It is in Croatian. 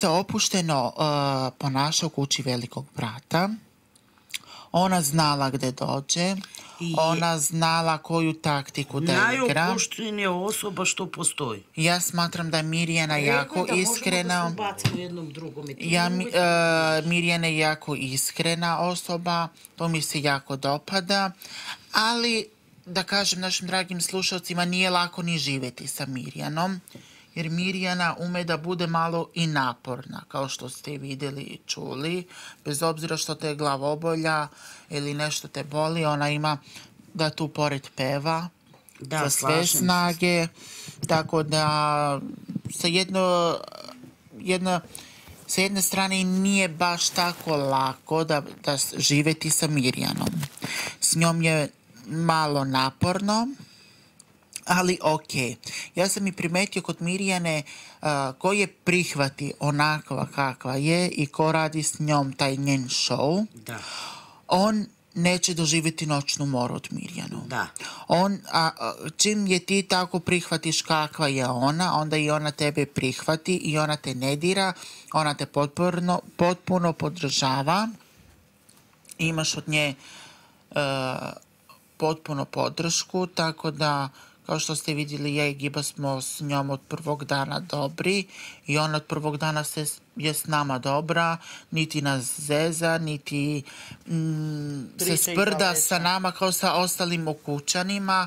se opušteno ponaša u kući velikog brata. Ona znala gdje dođe, ona znala koju taktiku da igra. Najopuštenija osoba što postoji. Ja smatram da je Mirjana jako iskrena. Mirjana je jako iskrena osoba, to mi se jako dopada, ali da kažem našim dragim slušalcima, nije lako ni živjeti sa Mirjanom, jer Mirjana ume da bude malo i naporna, kao što ste vidjeli i čuli. Bez obzira što te je glavobolja ili nešto te boli, ona ima da tu pored peva za sve snage. Tako da sa jedne strane nije baš tako lako da živjeti sa Mirjanom. S njom je malo naporno, ali ok. Ja sam i primetio kod Mirjane ko je prihvati onakva kakva je i ko radi s njom taj njen show, on neće doživjeti noćnu moru od Mirjanu. Čim je ti tako prihvatiš kakva je ona, onda i ona tebe prihvati i ona te ne dira, ona te potpuno podržava. Imaš od nje potpuno podršku, tako da, kao što ste vidjeli, ja i Giba smo s njom od prvog dana dobri i ona od prvog dana je s nama dobra, niti nas zeza, niti se sprda sa nama kao sa ostalim ukućanima.